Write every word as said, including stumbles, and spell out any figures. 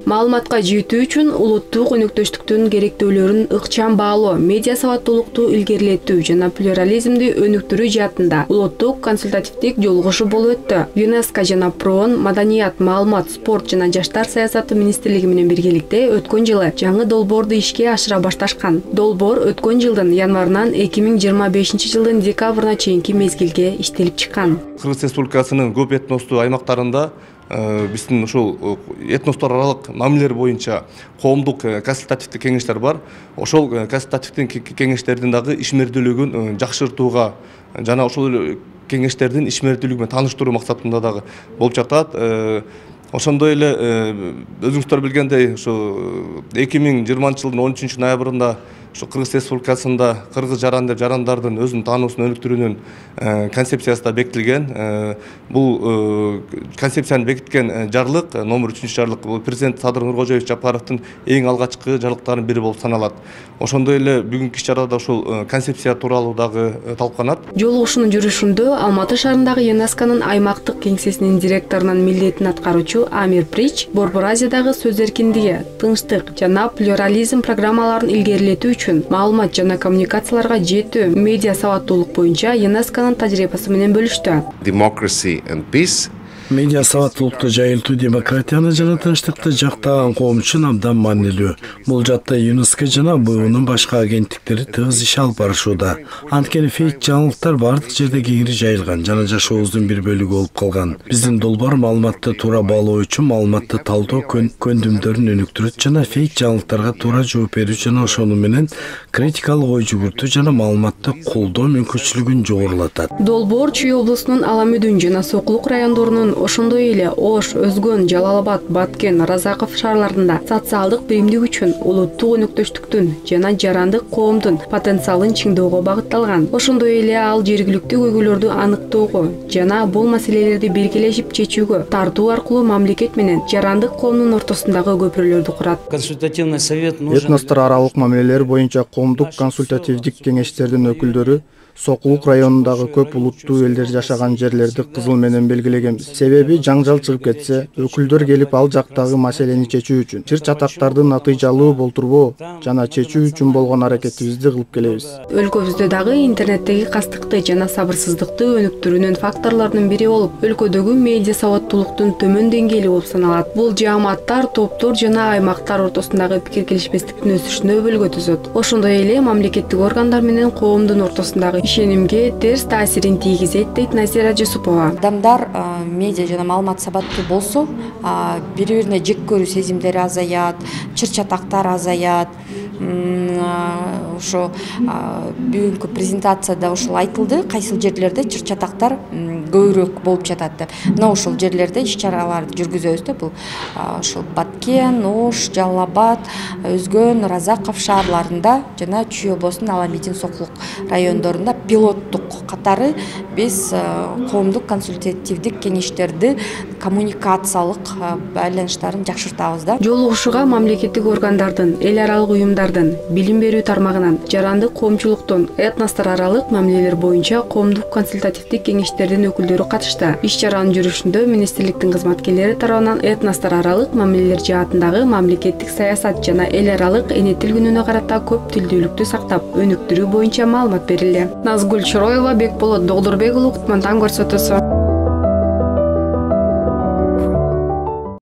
Маалыматка жетүү үчүн улуттук өнөктөштүктүн керектөөлөрүн ыкчам баалоо, медиа сабаттуулукту илгерилетүү жана плюрализмди өнүктүрүү жаатында улуттук консультативдик жолугушу болуп өттү. ЮНЕСКО жана ПРООН Маданият, маалымат, спорт жана жаштар саясаты министрлиги менен биргеликте өткөн жылы жаңы долбоорду ишке ашыра башташкан. Долбоор өткөн жылдын январынан эки миң жыйырма бешинчи жылдын декабрына чейинки мезгилге иштелип чыккан. Кыргыз Республикасынын көп этностуу аймактарында биздин ушул этностор аралык мамилелер боюнча коомдук консультативдик кеңештер бар. Ошол консультативдик кеңештердин дагы ишмердүүлүгүн жакшыртууга жана ошол кеңештердин ишмердүүлүгү менен тааныштыруу максатында дагы болуп жатат. Ошондой эле өзүңүздөр билгендей, ушу эки миң жыйырманчы жылдын он үчүнчү ноябрында ушу Кыргыз Республикасында кыргыз жаран деп жарандардын өзүнүн таануусун өнүктүрүүнүн концепциясы да бекитилген. Бул концепцияны бекиткен жарлык, номер үчүнчү жарлык, бул президент Садыр Нуркожоевич Жапаровдун эң алгачкы жарлыктарынын бири болуп саналат. Ошондой эле бүгүнкү иш-чарада ушул концепция тууралуу дагы талкууланат. Жолугушуунун жүрүшүндө Алматы шаарындагы ЮНЕСКОнун аймактык кеңсесинин директорунун милдетин аткаруучу Амир Прич Борбор Азиядагы сөз эркиндиги, тынчтык жана плюрализм программаларын илгерилетүү үчүн маалымат жана коммуникацияларга жетүү, медиа сабаттуулук боюнча ЮНЕСКонун тажрыйбасы менен бөлүштү. Democracy and peace. Медиа сабаттуулукту жайылтуу демократияны жана тынчтыкты жактаган коом үчүн абдан маанилүү. Бул жаатта ЮНЕСКО жана БУнун башка агенттиктери тыгыз иш алып барышууда. Анткени фейк жаңылыктар бардык жерде кеңири жайылган жана жашообуздун бир бөлүгү болуп калган. Биздин долбоор маалыматты туура баалоо үчүн маалыматты талдоо көндүмдөрүн өнүктүрөт жана фейк жаңылыктарга туура жооп берүү жана ошону менен критикалык ой жүгүртүү жана маалыматты колдоо мүмкүнчүлүгүн жогорулатат. Долбоор Чүй облусунун Аламүдүн жана Сокулук райондорунун, ошондой эле Ош, Өзгөн, Жалал-Абад, Баткен, Разаков шаарларында социалдык биримдик үчүн улуттук өнөктөштүктүн жана жарандык коомдун потенциалын чыңдоого багытталган. Ошондой эле ал жергиликтүү көйгөйлөрдү аныктоого жана бул маселелерди биргелешип чечүүгө тартуу аркылуу мамлекет менен жарандык коомдун ортосундагы көпүрөлөрдү курат. Консультативный совет нужен. Этностор аралык мамилелер боюнча коомдук консультативдик кеңештердин өкүлдөрү Сокулук районундагы көп улуттуу элдер жашаган жерлерди кызыл менен белгилегенбиз. Себеби жаңжал чыгып кетсе, өкүлдөр келип ал жактагы маселени чечүү үчүн, чыр чатактарды натыйжалуу болтурбоо жана чечүү үчүн болгон аракетибизди кылып келебиз. Өлкөбүздө дагы интернеттеги кастыкты жана сабырсыздыкты өнүктүрүүнүн факторлорунун бири болуп, өлкөдөгү медиа сабаттуулуктун төмөн деңгээли болуп саналат. Бул жааматтар, топтор жана аймактар ортосундагы пикир келишпестиктин өсүшүнө өбөлгө түзөт. Ошондой эле мамлекеттик органдар менен коомдун ортосундагы ишенимге терс таасирин тийгизет, дейт Назира Жусупова. Адамдар медиа жана маалымат сабаттуу болсо, бири-бирине жек көрүү сезимдери азаят, чыр-чатактар азаят. Ошо бүгүнкү презентацияда ошол айтылды, кайсыл жерлерде чыр-чатактар көбүрөөк болуп жатат деп. Мына ошол жерлерде иш-чараларды жүргүзөбүз да, бул ошол Баткен, Ош, Жалал-Абад, Өзгөн, Разаков шаарларында жана Чүй облусунун Аламедин, Сокулук райондорунда пилоттук катары биз коомдук консультативдик кеңештерди коммуникациялык байланыштарын жакшыртабыз да. Жолугушууга мамлекеттик органдардын, эл аралык уюмдардын, билим берүү тармагынан, жарандык коомчулуктун, этностор аралык мамилелер боюнча коомдук консультативдик кеңештердин өкүлдөрү катышты. Иш-чаранын жүрүшүндө министрликтин кызматкерлери тарабынан этностор аралык мамилелер жаатындагы мамлекеттик саясат жана эл аралык эне тил күнүнө карата көп тилдүүлүктү сактап, өнүктүрүү боюнча маалымат берилди. Назгүл Чороева, Бекболот Догдурбек уулу, Кутман таң көрсөтүүсү.